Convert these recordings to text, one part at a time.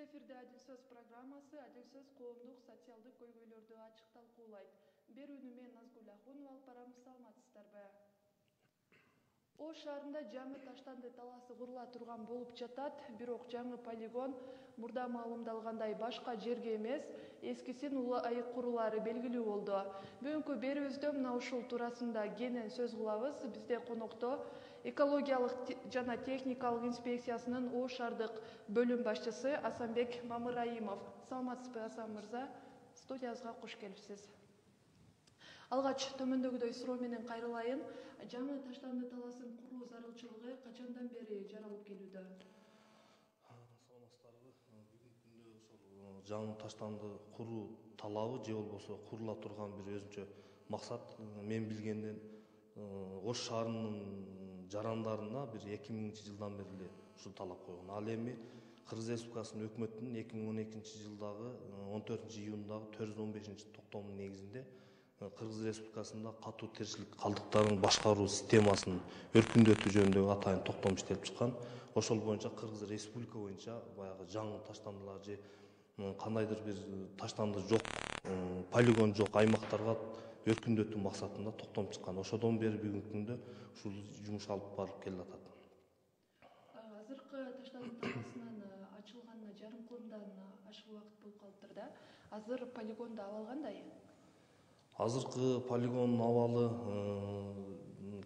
эфирде Адил сөз программасы Адил сөз коомдук социалдык көйгөйлөрдү ачык талкуулайт. Берүүнү мен Назгүл Ахунова алып барам, саламатсыздарбы? Ош шаарында жаңы таштанды талаасы курула турган болуп жатат, бирок жаңы полигон мурда маалымдалгандай башка жерге эмес, эскисин улайык курулаары белгилүү болду. Бүгүнкү берүүбүздө мына ушул туурасында кенен сөз кылабыз. Бизде конокто экологиялык жана техникалык инспекциясынын Ош шаардык бөлүм башчысы Асанбек Мамыраимов. Саламатсызбы, Асан мырза? Студиябызга кош келипсиз. Алгач төмөндөгүдөй суроо менен кайрылайын. Жаңы таштанды талаасын куруу зарылчылыгы качандан бери жаралып келүүдө? Саламатсыздарбы? Бүгүнкү күндө ошол жаңы таштанды куруу талабы же болбосо курула турган бир өзүнчө максат мен билгенден Ош шаарынын жарандарына бир 2000-жылдан бери эле ушул талап койгон. Ал эми Кыргыз Республикасынын өкмөтүнүн 2012-жылдагы 14-июндагы 415-токтомунун негизинде Кыргыз Республикасында катуу тиричилик калдыктарын башкаруу системасынын өркүндөтүү жөнүндөгү атайын токтом иштелип чыккан. Ошол боюнча Кыргыз Республика боюнча баягы жаңы таштандылар же кандайдыр бир таштанды жок, полигон жок аймактарга өркүндөтүү максатында токтом чыккан. Ошодон бери бүгүнкү күндө ушул жумуш алып барылып келатат. Азыркы таштанды талаасынын ачылганына жарым кылымдан ашык убакыт болуп калыптыр да. Азыр полигондо абал кандай? Азыркы полигондун абалы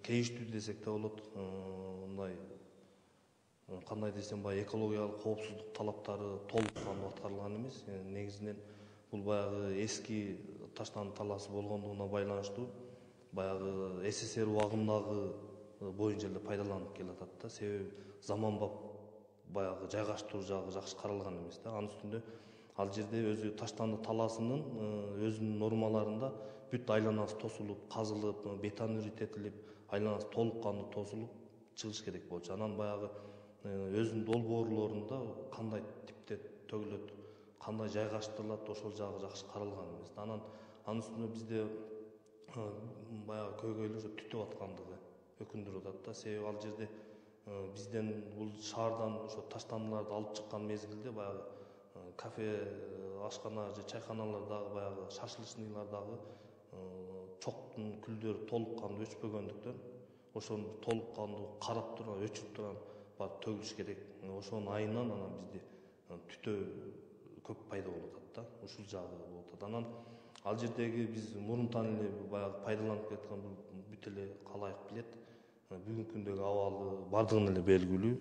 кейиштүү десек да болот. Мындай кандай десем, баягы экологиялык коопсуздук талаптары толук кандуу аткарылган эмес. Негизинен бул баягы эски таштанды талаасы болгондугуна байланыштуу баягы СССР убагындагы боюнча эле пайдаланып келатат да. Себеби заманбап баягы жайгаштыруу жагы жакшы каралган эмес да. Анын үстүндө ал жерде өзү таштанды талаасынын өзүнүн нормаларында бүт айланасы тосулуп, казылып, бетон иртетилип, айланасы толук кандуу тосулуп чыгыш керек болчу. Анан баягы өзүнүн долбоорлорунда кандай типте төгүлөт, кандай жайгаштырылат, ошол жагы жакшы каралган эмес. Анын үстүнө бизде баягы көйгөйлөр түтүп аткандыгы өкүндүрүп атат да. Себеби ал жерде бизден бул шаардан ошо таштандыларды алып чыккан мезгилде баягы кафе, ашкана же чайканалардагы баягы шашлычныйлардагы чоктун күлдөрү толук кандуу өчпөгөндүктөн ошону толук кандуу карап турган, өчүрүп турган барып төгүлүш керек. Ошонун айынан анан бизде түтөө көп пайда болуп атат да. Ушул жагы болуп атат. Анан ал жердеги биз мурунтан эле баягы пайдаланып келаткан бүт эле калайык билет. Бүгүнкү күндөгү абалы бардыгын эле белгилүү.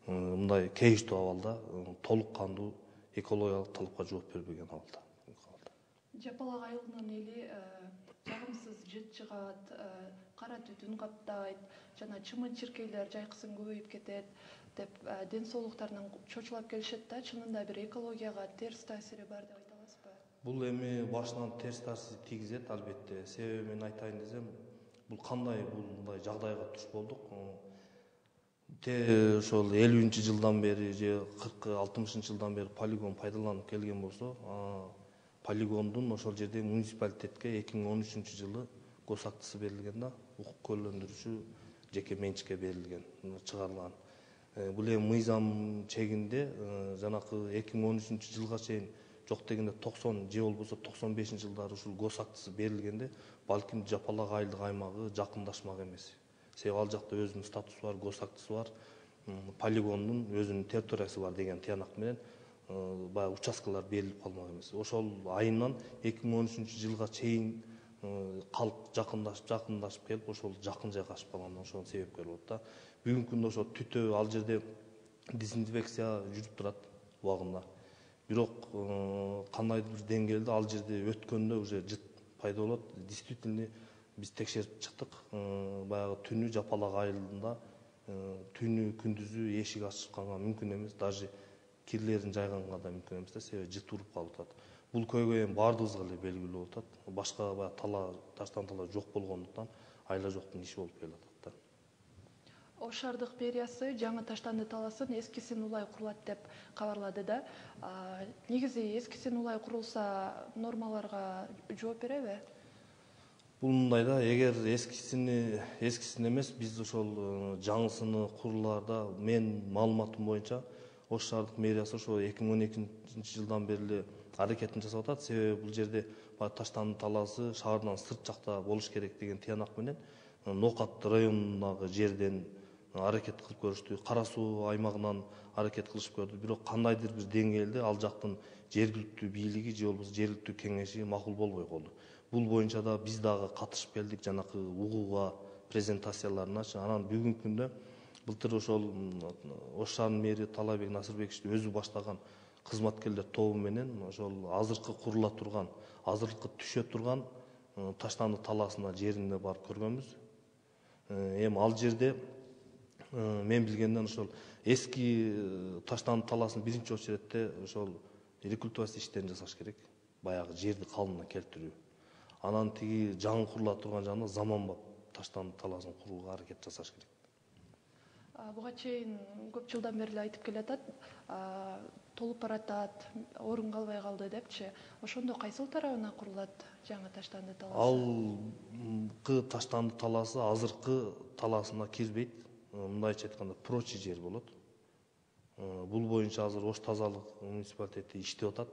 Мындай кейиштүү абалда толук кандуу экологиялык талапка жооп бербеген абалда. Жапалак айылынын эли жагымсыз жыт чыгат, кара түтүн каптайт жана чымын-чиркейлер жайкысын көбөйүп кетет деп ден соолуктарынан чочулап келишет да. Чынында бир экологияга терс таасири бар деп айта аласызбы? Бул эми башынан терс таасир тийгизет албетте. Себеби мен айтайын десем, бул кандай мындай жагдайга туш болдук. Ошол 50-жылдан бери же 40-60-жылдан бери полигон пайдаланып келген болсо, полигондун ошол жерде муниципалитетке 2013-жылы гос актысы берилген да, укук куөрлөндүрүүчү жеке менчикке берилген, чыгарылган. Бул эми мыйзам чегинде жанакы 2013-жылга чейин жок дегенде 90 же болбосо 95-жылдары ушул гос актысы берилгенде, балким жапалак айылдык аймагы жакындашмак эмес. Себеби ал жакта өзүнүн статусу бар, гос актысы бар, полигондун өзүнүн территориясы бар деген тыянак менен баягы участкалар берилип калмак эмес. Ошол айынан 2013-жылга чейин калк жакындашып келип, ошол жакын жайгашып калган, ошонун себепкери болот да. Бүгүнкү күндө ошо түтөө ал жерде дезинфекция жүрүп турат убагында. Бирок кандайдыр бир деңгээлде ал жерде өткөндө уже жыт пайда болот. Действительно биз текшерип чыктык. Баягы түнү жапалак айылында түнү күндүзү эшик ачканга мүмкүн эмес, даже кирлерин жайганга да мүмкүн эмес да, себеби жыт уруп калып атат. Бул көйгөй эми баардыгыбызга эле белгилүү болуп атат. Башка баягы таштанды талаа жок болгондуктан айла жоктун иши болуп келатат да. Ош шаардык мэриясы жаңы таштанды талаасын эскисин улай курулат деп кабарлады да. Негизи эскисин улай курулса нормаларга жооп береби? Бул мындай да, эгер эскисин эмес, биз ошол жаңысыны курулаарда, мен маалыматым боюнча Ош шаардык мэриясы ошо 2012 жылдан бери эле аракетин жасап атат. Себеби бул жерде баягы Таштанды талаасы шаардан сырт жакта болуш керек деген тыянак менен Нокат районундагы жерден аракет кылып көрүштү. Кара суу аймагынан аракет кылышып көрдү. Бирок кандайдыр бир деңгээлде ал жактын жергиликтүү бийлиги же болбосо жергиликтүү кеңеши макул болбой калды. Бул боюнча да биз дагы катышып келдик жанакы угууга, презентацияларыначы. Анан бүгүнкү күндө былтыр ошол Ош шаарынын мэри Талайбек Насырбекович өзү баштаган кызматкерлер тобу менен ошол азыркы курула турган, азыркы түшө турган Таштанды талаасына жерине барып көргөнбүз. Эми ал жерде мен билгенден ошол эски Таштанды талаасын биринчи очередте ошол рекультивация иштерин жасаш керек. Баягы жерди калыбына келтирүү. Анан тиги жаңы курула турган жагында заманбап Таштанды талаасын курууга аракет жасаш керек. Буга чейин көп жылдан бери эле айтып келатат, толуп баратат, орун калбай калды депчи. Ошондо кайсыл тарабына курулат жаңы Таштанды талаасы? Алкы Таштанды талаасы азыркы талаасына кирбейт. Мындайча айтканда прочий жер болот. Бул боюнча азыр Ош тазалык муниципалитети иштеп атат.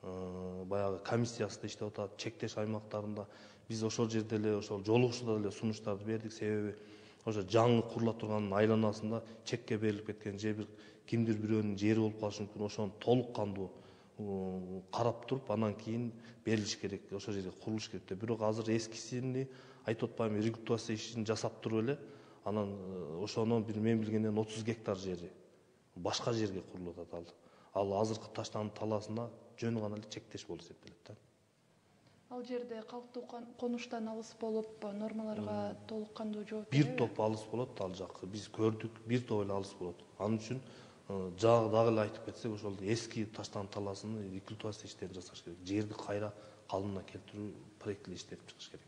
Баягы комиссиясы да иштеп атат. Чектеш аймактарында биз ошол жерде эле ошол жолугушууда эле сунуштарды бердик. Себеби ошо жаңы курула турган айланасында чекке берилип кеткен же бир кимдир бирөөнүн жери болуп калышы мүмкүн. Ошону толук кандуу карап туруп, анан кийин берилиш керек, ошол жерге курулуш керек деп. Бирок азыр эскисини айтып атпаймынбы, рекультивация ишин жасап туруп эле, анан ошону мен билгенден 30 гектар жери башка жерге курулуп атат. Ал азыркы Таштанды талаасына жөн гана эле чектеш болуп эсептелет да. Ал жерде калктуу конуштан алыс болуп, нормаларга толук кандуу жооп бир топ алыс болот ал жак. Биз көрдүк, бир топ эле алыс болот. Анын үчүн жагы дагы эле айтып кетсек, ошол эски Таштанды талаасынын рекультивация иштерин жасаш керек. Жерди кайра калыбына келтирүү проектили иштеп чыгыш керек.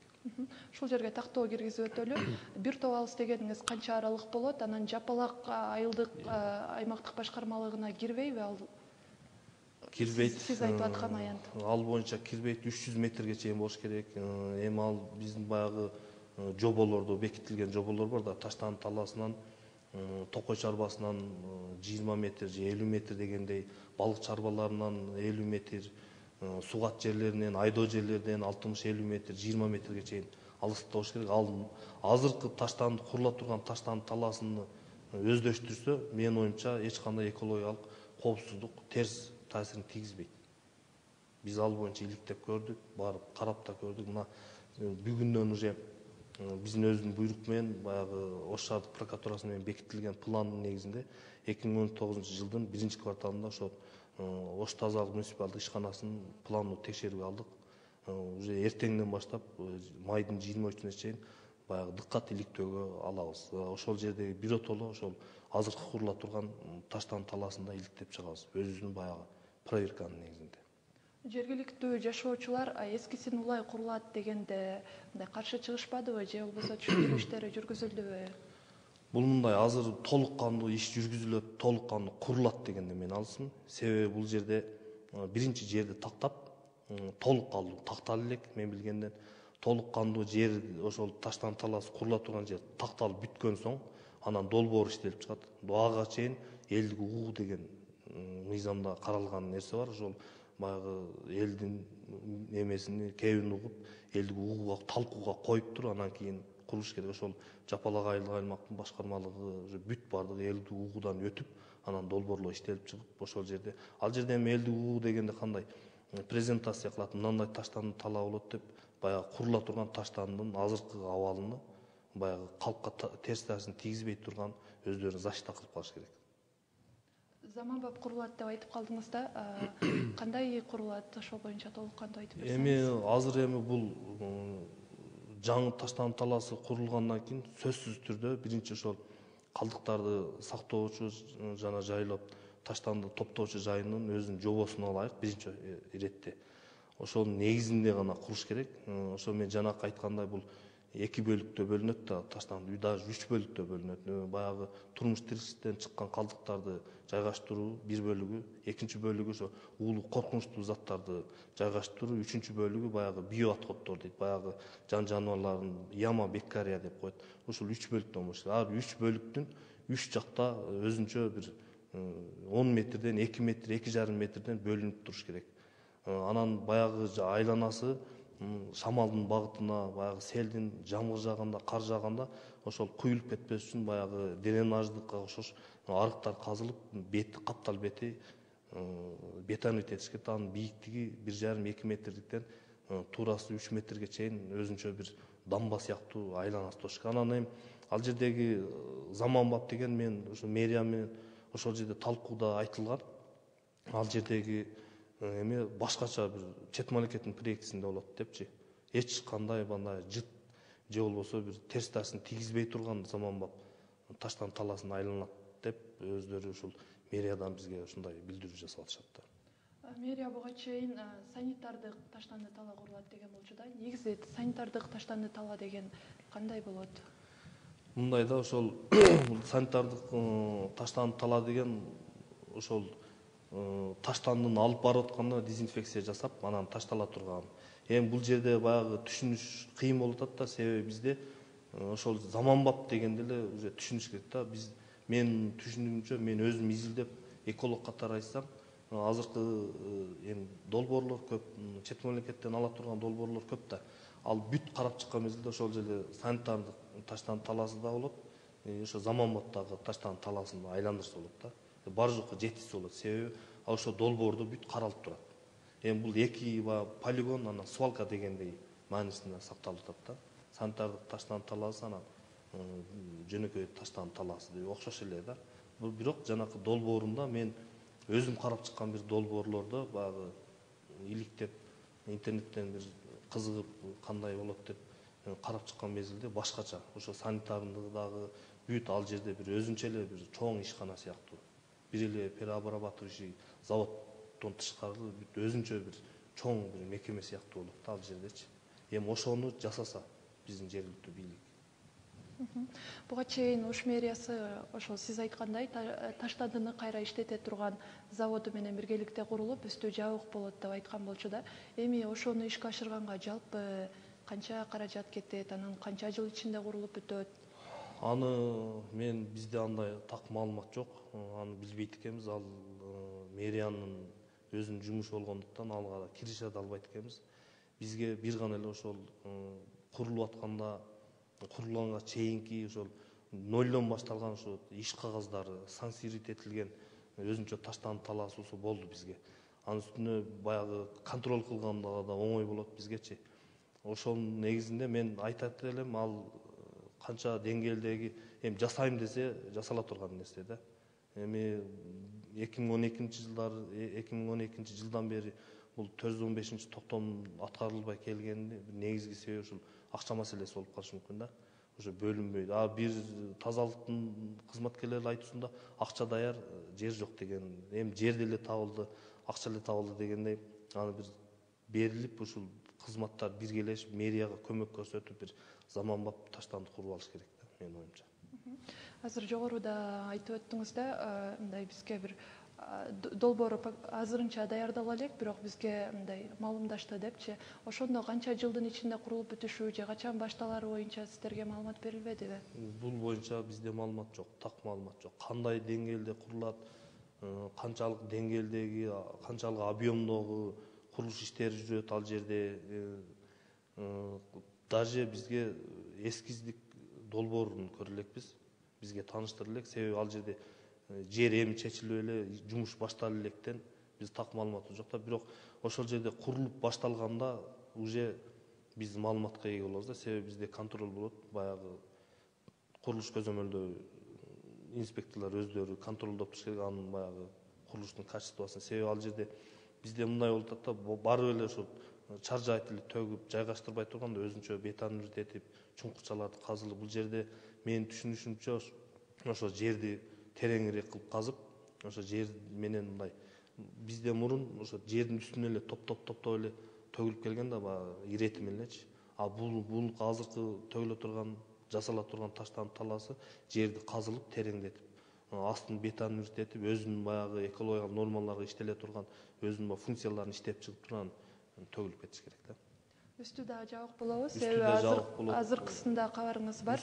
Ушул жерге тактоо киргизип өтөлү. Бир топ алыс дегениңиз канча аралык болот? Анан Жапалак айылдык аймактык башкармалыгына кирбейби ал? Кирбейт. Сиз айтып аткан аянт. Ал боюнча кирбейт, 300 метрге чейин болуш керек. Эми ал биздин баягы жоболордо бекитилген жоболор бар да, Таштанды талаасынан Токой чарбасынан 20 метр же 50 метр дегендей, балык чарбаларынан 50 метр, сугат жерлеринен, айдоо жерлерден 60-50 метр, 20 метрге чейин алыстыкта болуш керек. Ал азыркы Таштанды курула турган Таштанды талаасыны өздөштүрсө, менин оюмча эч кандай экологиялык коопсуздук, терс таасирин тийгизбейт. Биз ал боюнча иликтеп көрдүк, барып карап да көрдүк. Мына бүгүндөн уже биздин өзүнүн буйрук менен баягы Ош шаардык прокуратурасы менен бекитилген пландын негизинде 2019 жылдын 1 кварталында ошол Ош тазалык муниципалдык ишканасынын планын текшерүүгө алдык. Уже эртеңден баштап майдын 23-үнө чейин баягы дыккат иликтөөгө алабыз. Ошол жердеги биротоло ошол азыркы курула турган Таштанды талаасында иликтеп чыгабыз. Өзүбүздүн баягы проверканын негизинде. Жергиликтүү жашоочулар эскисин улай курулат дегенде мындай каршы чыгышпадыбы же болбосо түшүндүрүү иштери жүргүзүлдүбү? Бул мындай азыр толук кандуу иш жүргүзүлөт, толук кандуу курулат дегенде мен алысмын. Себеби бул жерде биринчи жерди тактап, толук кандуу такталып элек, мен билгенден толук кандуу жер ошол Таштанды талаасы курула турган жер такталып бүткөн соң, анан долбоор иштелип чыгат. Ага чейин элдик угуу деген мыйзамда каралган нерсе бар. Ошол баягы элдин эмесини кебин угуп, элдик угууга, талкууга коюп туруп, анан кийин курулуш керек. Ошол Жапалак айылдык аймактын башкармалыгы бүт бардыгы элдик угуудан өтүп, анан долбоорлор иштелип чыгып, ошол жерде. Ал жерде эми элдик угуу дегенде кандай презентация кылат, мындай Таштанды талаа болот деп, баягы курула турган Таштандын азыркы абалыны баягы калкка терс таасирин тийгизбей турган өздөрү защита кылып калыш керек. Заманбап курулат деп айтып калдыңыз да, кандай курулат, ошол боюнча толук кандуу айтып берсеңиз? Эми азыр бул жаңы Таштанды талаасы курулгандан кийин сөзсүз түрдө биринчи ошол калдыктарды сактоочу жана жайлап Таштанды топтоочу жайынын өзүнүн жобосун алайык биринчи иретте. Ошонун негизинде гана курулуш керек. Ошо мен жанакы айткандай бул 2 бөлүктө бөлүнөт да, Таштанды даже 3 бөлүктө бөлүнөт. Баягы турмуш тиричиликтен чыккан калдыктарды жайгаштыруу бир бөлүгү, экинчи бөлүгү ошо уулуу коркунучтуу заттарды жайгаштыруу, үчүнчү бөлүгү баягы био отходдор дейт, баягы жан жаныбарлардын яма, беккария деп коет. Ушул 3 бөлүктөн болуш керек. Ар 3 бөлүктүн 3 жакта өзүнчө бир 10 метрден 2 метр, 2,5 метрден бөлүнүп туруш керек. Анан баягы айланасы шамалдын багытына, баягы селдин, жамгыр жааганда, кар жааганда ошол куюлуп кетпеш үчүн баягы дренаждыкка окшош арыктар казылып, бети, каптал бети бетонит этишкен. Анын бийиктиги 1,5-2 метрликтен туурасы 3 метрге чейин өзүнчө бир дамба сыяктуу айланасы турушкан. Анан эми ал жердеги заманбап деген мен ошо мэрия менен ошол жерде талкууда айтылган. Ал жердеги эме башкача бир чет мамлекеттин проектисинде болот депчи. Эч кандай мындай жыт же болбосо бир терс тасын тийгизбей турган заманбап таштан талаасын айланат деп өздөрү ушул мэриядан бизге ушундай билдирүү жасап атышат да. Мэрия буга чейин санитардык таштанды талаа курулат деген болчу да. Негизи санитардык таштанды талаа деген кандай болот? Мындай да, ошол санитардык таштанды талаа деген ошол таштандыны алып барып атканда дезинфекция жасап, анан таштала турган. Эми бул жерде баягы түшүнүш кыйын болуп атат да, себеби бизде ошол заманбап дегенде эле уже түшүнүш керек да. Мен түшүнүгүмчө, мен өзүм изилдеп эколог катары айтсам, азыркы эми долбоорлор көп, чет мамлекеттен ала турган долбоорлор көп да. Ал бүт карап чыккан мезгилде ошол жерде санитардык таштанды талаасы да болот, ошо заманбаптагы таштанды талаасын айландырса болот да. Бар жокко жетишсе болот, себеби ошо долбоордо бүт каралып турат. Эми бул эки полигон, анан свалка дегендей маанисинде сакталып атат да. Санитардык таштанды талаасы, анан жөнөкөй таштанды талаасы деп окшош эле да. Бирок жанакы долбоорунда мен өзүм карап чыккан бир долбоорлордо баягы иликтеп интернеттен бир кызыгып кандай болот деп карап чыккан мезгилде башкача. Ошо санитардыгы бүт ал жерде бир өзүнчө эле бир чоң ишкана сыяктуу. Бир эле переобрабатывающий заводдон тышкары бүт өзүнчө бир чоң бир мекеме сыяктуу болот да ал жердечи. Эми ошону жасаса биздин жергиликтүү бийлик. Буга чейин Ош мэриясы ошол сиз айткандай таштандыны кайра иштете турган заводу менен биргеликте курулуп, үстү жабык болот деп айткан болчу да. Эми ошону ишке ашырганга жалпы канча каражат кетет, анан канча жыл ичинде курулуп бүтөт? Аны бизде андай так маалымат жок. Аны билбейт экенбиз. Ал мэриянын өзүнүн жумушу болгондуктан алга киреше да албайт экенбиз. Бизге бир гана эле ошол курулуп атканда, курулганга чейинки ошол нолдон башталган ошо иш кагаздары, санкциялить этилген өзүнчө таштанды талаасыбыз болду бизге. Анын үстүнө баягы контроль кылганда да оңой болот бизгечи. Ошонун негизинде мен айтат элем, ал канча деңгээлдеги эми жасайм десе жасала турган нерсе да. Эми 2012 жылдан бери бул 415 токтом аткарылбай келгенин негизги себеби ушул акча маселеси болуп калышы мүмкүн да. Ошо бөлүнбөйдү. Бир тазалыктын кызматкерлери айтуусунда акча даяр, жер жок деген. Эми жер деле табылды, акча эле табылды дегендей, аны бир берилип, ушул кызматтар биргелешип, мэрияга көмөк көрсөтүп, бир заманбап таштанды куруп алыш керек да, менин оюмча. Азыр жогоруда айтып өттүңүз да, мындай бизге бир долбоору азырынча даярдала элек, бирок бизге мындай маалымдашты депчи. Ошондо канча жылдын ичинде курулуп бүтүшү же качан башталары боюнча сиздерге маалымат берилбедиби? Бул боюнча бизде маалымат жок, так маалымат жок. Кандай деңгээлде курулат, канчалык деңгээлдеги, канчалык объемдогу курулуш иштери жүрөт ал жерде, даже бизге эскиздик долбоорун көрө элекпиз. Бизге тааныштыра элек, себеби ал жерде жер эми чечилип эле, жумуш баштала электен биз так маалыматыбыз жок да. Бирок ошол жерде курулуп башталганда уже биз маалыматка ээ болобуз да, себеби бизде контроль болот. Баягы курулуш көзөмөлдөө инспекторлор өздөрү контролдоп туруш керек анын баягы курулуштун качествосун. Себеби ал жерде бизде мындай болуп атат да, барып эле ошо чаржайт эле төгүп жайгаштырбай турганда өзүнчө бетонит этип, чуңкурчаларды казылып, бул жерде менин түшүнүшүмчө ошо жерди тереңирээк кылып казып, ошо жер менен мындай бизде мурун ошо жердин үстүнө эле топтоп эле төгүлүп келген да, баягы ирети мененчи. Бул азыркы төгүлө турган, жасала турган таштанды талаасы жерди казылып, тереңдетип, астын бетонит этип, өзүнүн баягы экологиялык нормаларга иштеле турган өзүнүн функцияларын иштеп чыгып турган төгүлүп кетиш керек да. Үстү дагы жабык болобу? Үстү Себеби да жабык болот. азыркысында кабарыңыз бар.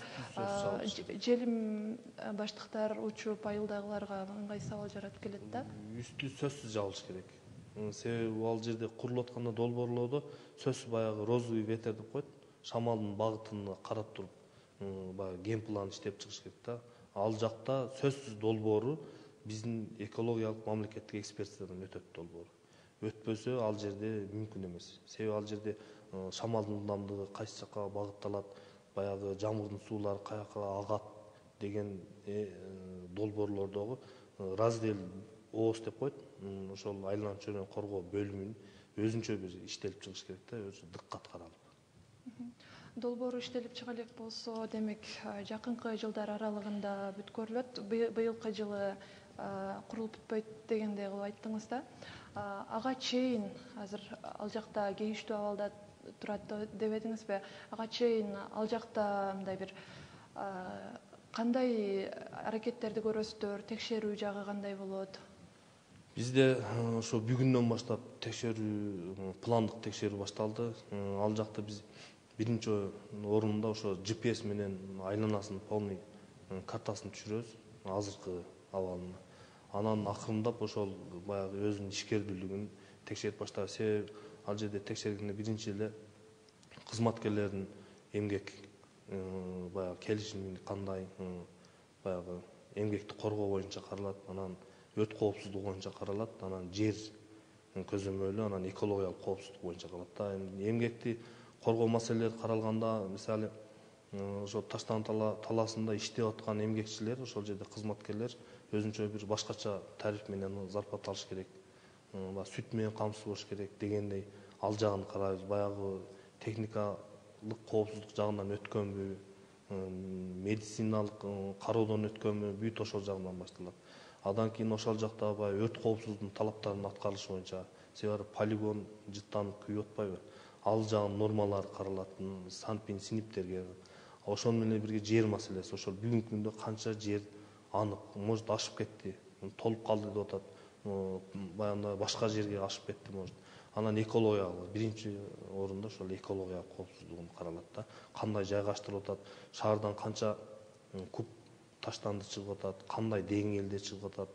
Желим баштыктар учуп айылдагыларга ыңгай сабал жаратып келет да. Үстү сөзсүз жабылыш керек. Себеби ал жерде курулуп атканда долбоорлоодо сөзсүз баягы розовый ветер деп коет. Шамалдын багытын карап туруп, баягы ген план иштеп чыгыш керек да. Ал жакта сөзсүз долбоору биздин экологиялык мамлекеттик экспертизадан өтөт долбоору. Өтпөсө ал жерде мүмкүн эмес. Себеби ал жерде шамалдын ылдамдыгы кайсы жакка багытталат, баягы жамгырдын суулары каяка агат деген долбоорлордогу раздел ООС деп коет. Ошол айланма чөйрөнү коргоо бөлүмүнүн өзүнчө бир иштелип чыгыш керек да, өзү дыккат каралып. Долбоору иштелип чыга элек болсо, демек жакынкы жылдар аралыгында бүткөрүлөт. Быйылкы жылы курулуп бүтпөйт дегендей кылып айттыңыз да. Ага чейин азыр ал жакта кейиштүү абалда турат деп эдиңизби? Ага чейин ал жакта мындай бир кандай аракеттерди көрөсүздөр, текшерүү жагы кандай болот? Бизде ошо бүгүндөн баштап текшерүү, пландык текшерүү башталды. Ал жакта биз биринчи орунда ошо GPS менен айланасынын полный картасын түшүрөбүз, азыркы абалын. Анан акырындап ошол баягы өзүнүн ишкердүүлүгүн текшерип баштайбыз. Себеби ал жерде текшергенде биринчи эле кызматкерлердин эмгек баягы келишими кандай, баягы эмгекти коргоо боюнча каралат, анан өт коопсуздугу боюнча каралат, анан жер көзөмөлү, анан экологиялык коопсуздук боюнча каралат да. Эмгекти коргоо маселелери каралганда, мисалы ошо Таштанды талаасында иштеп аткан эмгекчилер, ошол жерде кызматкерлер өзүнчө бир башкача тариф менен зарплата алыш керек, сүт менен камсыз болуш керек дегендей ал жагын карайбыз. Баягы техникалык коопсуздук жагынан өткөнбү, медициналык кароодон өткөнбү, бүт ошол жагынан башталат. Андан кийин ошол жакта баягы өт коопсуздугунун талаптарынын аткарылышы боюнча, себеби полигон жыттанып күйүп атпайбы, ал жагынын нормалары каралат, санпин синиптерге. Ошону менен бирге жер маселеси, ошол бүгүнкү күндө канча жер анык, может ашып кетти, толуп калды деп атат, баягы башка жерге ашып кетти может. Анан экологиялык биринчи орунда ошол экологиялык коопсуздугун каралат да. Кандай жайгаштырылып атат, шаардан канча куб таштанды чыгып атат, кандай деңгээлде чыгып атат,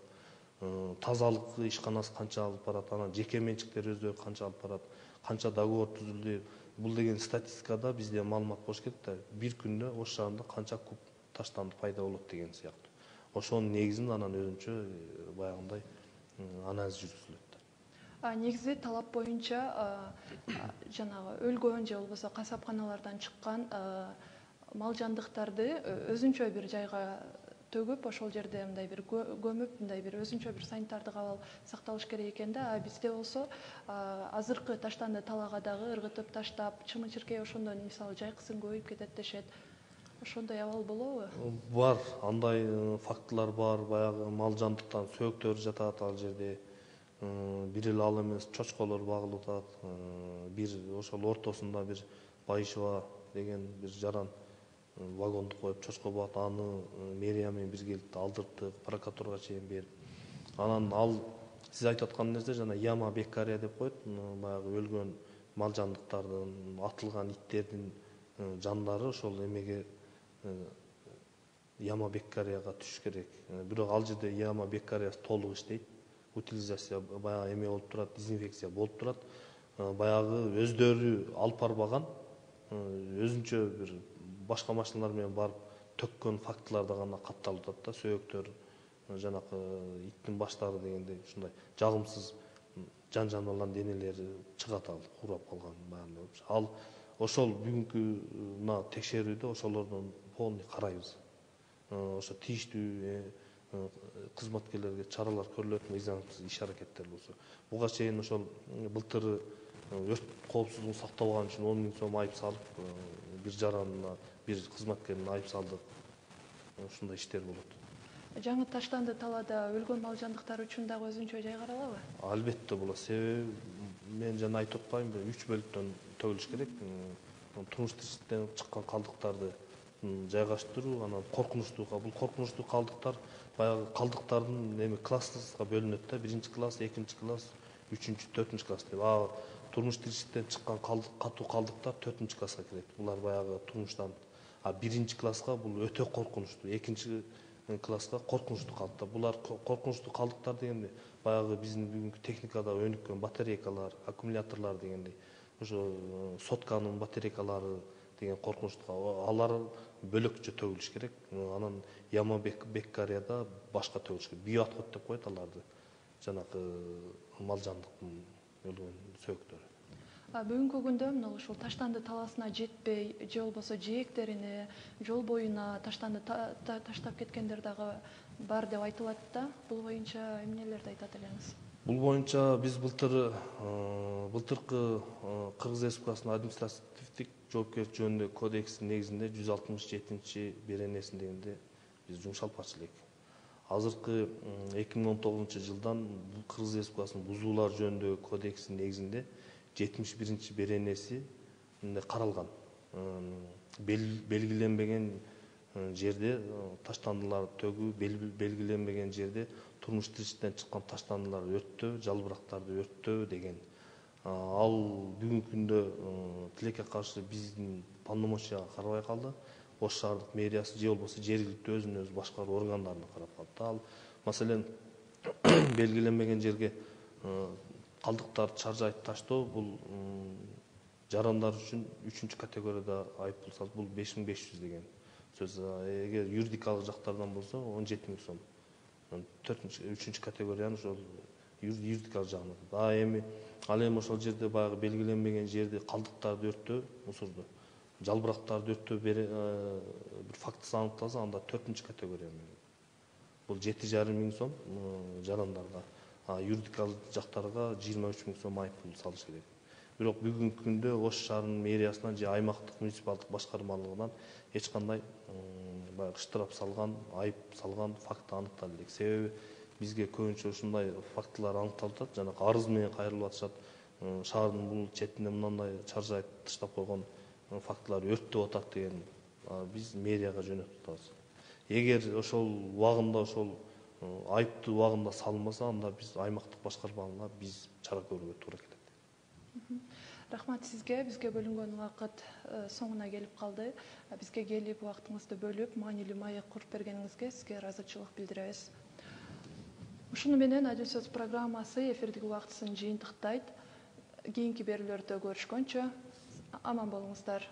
тазалык ишканасы канча алып барат, анан жеке менчиктер өздөрү канча алып барат, канча договор түзүлдү. Бул деген статистикада бизде маалымат болуш керек да, бир күндө Ош шаарында канча куб таштанды пайда болот деген сыяктуу. Ошонун негизинде анан өзүнчө баягындай анализ жүргүзүлөт. Негизи талап боюнча жанагы өлгөн же болбосо касапканалардан чыккан мал жандыктарды өзүнчө бир жайга төгүп, ошол жерде мындай бир көмүп, мындай бир өзүнчө бир санитардык абал сакталыш керек экен да. Бизде болсо азыркы таштанды талаага дагы ыргытып таштап, чымын-чиркей ошондон мисалы жайкысын көбөйүп кетет дешет. Ошондой абал болобу? Бар, андай фактылар бар. Баягы мал жандыктан сөөктөр жатат ал жерде. Бир эле ал эмес, чочколор багылып атат. Бир ошол ортосунда бир Байышева деген бир жаран вагонду коюп чочко багат, аны мэрия менен биргеликте алдырттык, прокуратурага чейин берип. Анан ал сиз айтып аткан нерсе жана яма беккария деп коет, баягы өлгөн мал жандыктардын, атылган иттердин жандары ошол эмеге яма беккарияга түшүш керек. Бирок ал жерде яма беккариясы толук иштейт. Утилизация баягы эме болуп турат, дезинфекция болуп турат. Баягы өздөрү алып барбаган, өзүнчө бир башка машиналар менен барып төккөн фактыларда гана катталып атат да, сөөктөр, жанакы иттин баштары дегендей ушундай жагымсыз жан-жаныбарлардын денелери чыгат, ал курап калган баягындай. Ал ошол бүгүнкү текшерүүдө ошолордон полный карайбыз. Ошо тийиштүү кызматкерлерге чаралар көрүлөт, мыйзамсыз иш аракеттер болсо. Буга чейин ошол былтыр өрт коопсуздугун сактабаган үчүн 10 000 сом айып салып, бир жаранына, бир кызматкерине айып салдык. Ушундай иштер болот. Жаңы Таштанды талаада өлгөн мал жандыктар үчүн дагы өзүнчө жай каралабы? Албетте болот. Себеби мен жана айтып атпаймынбы, 3 бөлүктөн төгүлүш керек. Турмуш тиричиликтен чыккан калдыктарды жайгаштыруу, анан коркунучтуу, бул коркунучтуу калдыктар баягы калдыктардын эми класска бөлүнөт да, 1-класс, 2-класс, 3-4-класс деп. турмуш тиричиликтен чыккан катуу калдыктар 4-класска кирет. Булар баягы турмуштан 1-класска бул өтө коркунучтуу, 2-класска коркунучтуу калдыктар. Булар коркунучтуу калдыктар дегенде баягы биздин бүгүнкү техникада өнүккөн батарейкалар, аккумуляторлор дегендей, ошо сотканын батарейкалары деген коркунучтуу, алар бөлөкчө төгүлүш керек. Анан яма беккарияда башка төгүлүш керек. Биоотход деп коет аларды. Жанагы мал жандыктын өлгөн сөөктөрү. Бүгүнкү күндө мына ушул таштанды талаасына жетпей, же болбосо жээктерине, жол боюна таштанды таштап кеткендер дагы бар деп айтылат да. Бул боюнча эмнелерди айтат элеңиз? Бул боюнча биз былтыркы Кыргыз Республикасынын административдик жоопкерчилик жөнүндө кодексинин негизинде 167-беренесин дегенде биз жумшалып барчу элек. Азыркы 2019-жылдан Кыргыз Республикасынын бузуулар жөнүндө кодексинин негизинде 71-беренеси каралган. Белгиленбеген жерде таштандылар төгүү, белгиленбеген жерде турмуш тиричиликтен чыккан таштандыларды өрттөө, жалбырактарды өрттөө деген. Ал бүгүнкү күндө тилекке каршы биздин полномочияга карабай калды. Ош шаардык мэриясы же болбосо жергиликтүү өзүнүн өзү башкаруу органдарына карап калды. Ал маселен белгиленбеген жерге калдыктарды чаржайтып таштоо бул жарандар үчүн 3-категорияда айыппул салып, бул 5500 деген сөз. Эгер юридикалык жактардан болсо 17 000 сом. 3-категориянын ошол юридикалык жагына. Эми ал эми ошол жерде баягы белгиленбеген жерде калдыктарды өрттөө, мусорду, жалбырактарды өрттөө бир фактысы аныкталса, анда 4-категория менен. Бул 7,5 000 сом жарандарга, юридикалык жактарга 23 000 сом айыппул салыш керек. Бирок бүгүнкү күндө Ош шаарынын мэриясынан же аймактык муниципалдык башкармалыгынан эч кандай баягы штраф салган, айып салган факт аныкталды элек. Себеби бизге көбүнчө ушундай фактылар аныкталып атат. Жанагы арыз менен кайрылып атышат. Шаардын бул четине мындай чаржайып таштап койгон фактылар өрттөп атат деген биз мэрияга жөнөтүп атабыз. Эгер ошол убагында ошол айыптуу убагында салынбаса, анда биз аймактык башкармага биз чара көрүүгө туура келет. Рахмат сизге. Бизге бөлүнгөн убакыт соңуна келип калды. Бизге келип убактыңызды бөлүп, маанилүү маек куруп бергениңизге сизге ыраазычылык билдиребиз. Ушуну менен Адил сөз программасы эфирдик убактысын жыйынтыктайт. Кийинки берүүлөрдө көрүшкөнчө аман болуңуздар.